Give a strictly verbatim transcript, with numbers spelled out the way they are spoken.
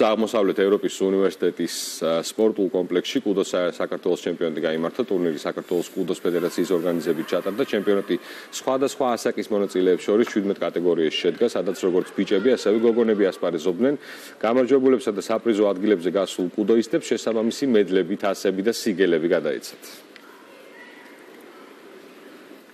აღმოსავლეთ ევროპის უნივერსიტეტის სპორტულ კომპლექსში კუდოს საქართველოს ჩემპიონატი გაიმართა. ტურნირი საქართველოს კუდოს ფედერაციის ორგანიზებით ჩატარდა. ჩემპიონატი სხვადასხვა ასაკის მონაწილეებს შორის შვიდმეტ კატეგორიაში შედგა, სადაც როგორც ბიჭები, ასევე გოგონები ასპარეზობდნენ. გამარჯვებულებსა და საპრიზო ადგილებზე გასულ კუდოისტებს შესაბამისი მედლები, თასები და სიგელები გადაეცათ.